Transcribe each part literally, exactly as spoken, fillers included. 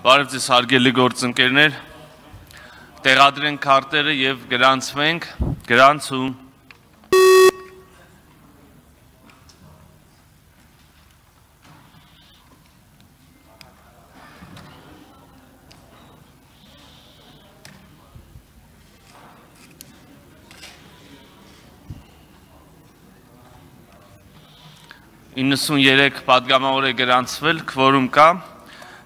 Բարև ձեզ հարգելի գործընկերներ, տեղադրենք քարտերը եւ գրանցվենք, գրանցում։ իննսուններեք պատգամավոր է գրանցվել, քվորում կա,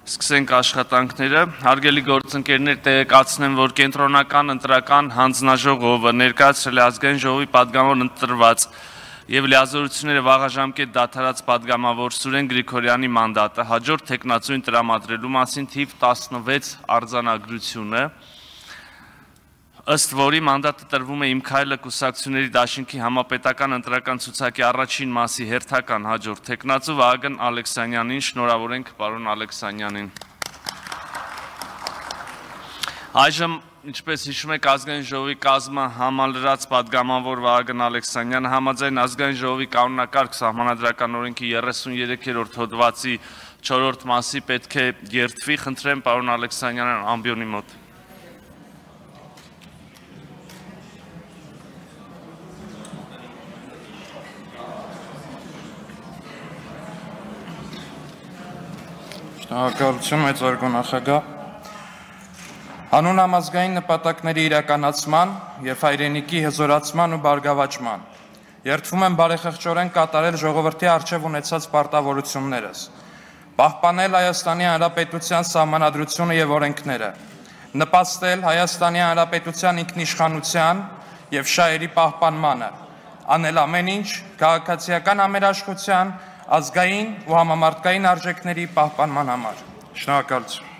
սկսենք աշխատանքները, հարգելի գործընկերներ տեղեկացնեմ, որ կենտրոնական ընտրական հանձնաժողովը ներկայացրել է ազգային ժողովի պատգամավոր ընտրված եւ լիազորությունները վաղաժամկետ դադարած պատգամավոր Սուրեն Գրիգորյանի մանդատը հաջորդ թեկնածուին տրամադրելու մասին թիվ տասնվեց արձանագրությունը, ըստ որի մանդատը տրվում է Իմ քայլը կուսակցությունների դաշինքի համապետական ընտրական ցուցակի առաջին մասի հերթական հաջորդ թեկնածու Վահագն Ալեքսանյանին, շնորհավորենք պարոն Ալեքսանյանին։ Այժմ, ինչպես հիշում եք, ազգային ժողովի կազմը համալրած պատգամավոր Վահագն Ալեքսանյանը համաձայն ազգային ժողովի կանոնակարգ սահմանադրական օրենքի երեսուններեքերորդ հոդվածի չորրորդ մասի պետք է երդվի, խնդրեմ պարոն Ալեքսանյանն ամբիոնի մոտ։ Շնորհակալություն, մեծարգո նախագահ։ Հանուն համազգային նպատակների իրականացման եւ հայրենիքի հզորացման ու բարգավաճման երդվում եմ բարեխղճորեն կատարել ժողովրդի առջև ունեցած պարտավորություններս, պահպանել Հայաստանի Հանրապետության սահմանադրությունը եւ օրենքները, նպաստել Հայաստանի Հանրապետության ինքնիշխանության եւ շահերի պահպանմանը, անել ամեն ինչ քաղաքացիական համերաշխության, ազգային ու համամարտկային արժեքների պահպանման համար։ Շնորհակալություն։